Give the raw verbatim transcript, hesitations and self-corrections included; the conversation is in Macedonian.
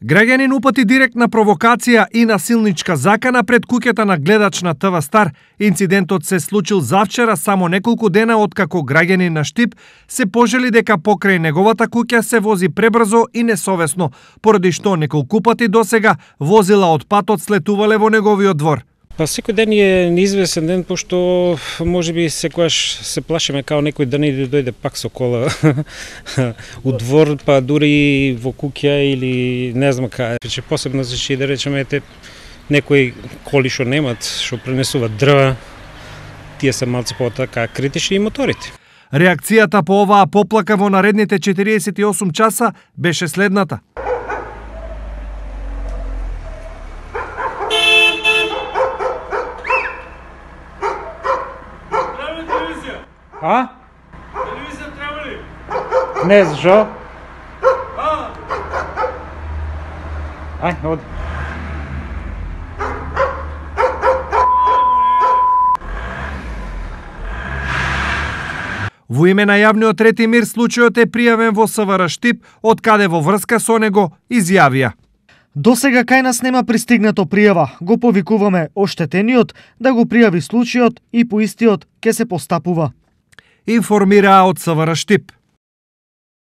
Граѓанин упати директна провокација и насилничка закана пред куќата на гледач на ТВ Стар. Инцидентот се случил завчера, само неколку дена откако граѓанин на Штип се пожели дека покрај неговата куќа се вози пребрзо и несовесно, поради што неколку пати досега возила од патот слетувале во неговиот двор. Па секој ден е неизвестен ден, пошто можеби секојаш се плашиме као некој да не дојде пак со кола у двор, па дури во куќа или не знам кај. Че посебно заши да речеме те некои коли што немат, што пренесуваат дрва, тие се малце потака критични и моторите. Реакцијата по оваа поплака во наредните четириесет и осум часа беше следната. А? Телевизија треба ли? Не, зашо? А? Ај, оди. Во име на јавниот ред и мир случајот е пријавен во СВР Штип, од каде во врска со него изјавија: Досега кај нас нема пристигнато пријава. Го повикуваме оштетениот да го пријави случајот и по истиот ќе се постапува. Информираа од СВР Штип.